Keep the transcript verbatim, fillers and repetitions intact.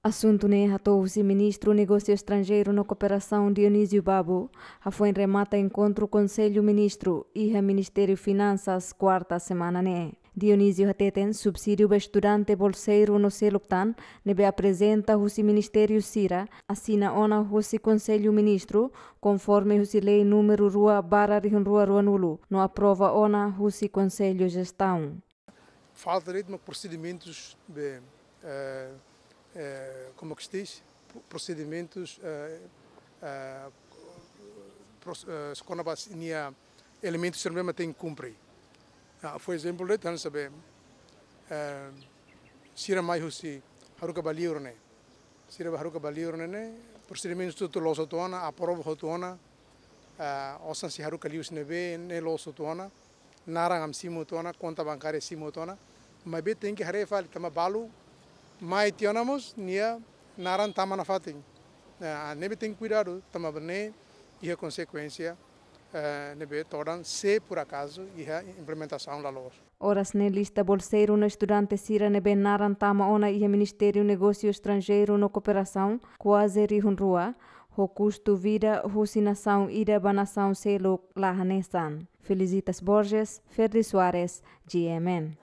Asuntu ne'e hato'o husi Ministru Negósiu Estranjeiru no Kooperasaun Dionísio Babo, hafoin remata enkontru Konsellu Ministru iha Ministériu Finansas kuarta semana ne'e. Dionísio hateten subsídiu ba estudante bolseiru no seluk tan ne'ebé aprezenta husi ministériu sira, asina ona husi Konsellu Ministru, konforme husi lei númeru rua barra rihun rua ruanulu, no aprova ona husi Konsellu Jestaun. Falta de'it mak prosedimentus be, eh, eh, como que se diz? Pro-, prosedimentus, eh, eh, pros-, eh, kona-ba nia elementus sira ne'ebé mak tenke kumpre. Ah, por ezemplu, de'it hanesan be, eh, sira mai husi haruka ba liur ne'e. Sira ba haruka ba liur ne'e, ne'e, prosedimentus hotu loos hotu ona, aprova hotu ona, ah, osan sei haruka liu husi ne'ebé, ne'e loos hotu ona, naran ami simu hotu ona, konta bankária simu hotu ona, maibé tenke haree fali tanba balu mai tiha ona mós nia naran tama nafatin. Ah, ne'ebé tenke kuidadu, tanba ne'e iha konsekuénsia, eh, ne'ebé todan se por acaso iha implementasaun la loos. Oras ne'e lista bolseiru no estudante sira ne'ebé naran tama ona iha Ministériu Negósiu Estranjeiru no Kooperasaun kuaze rihun rua, ho kustu vida husi nasaun ida ba nasaun seluk la hanesan. Felicitas Borges, Ferdi Soares, G M N.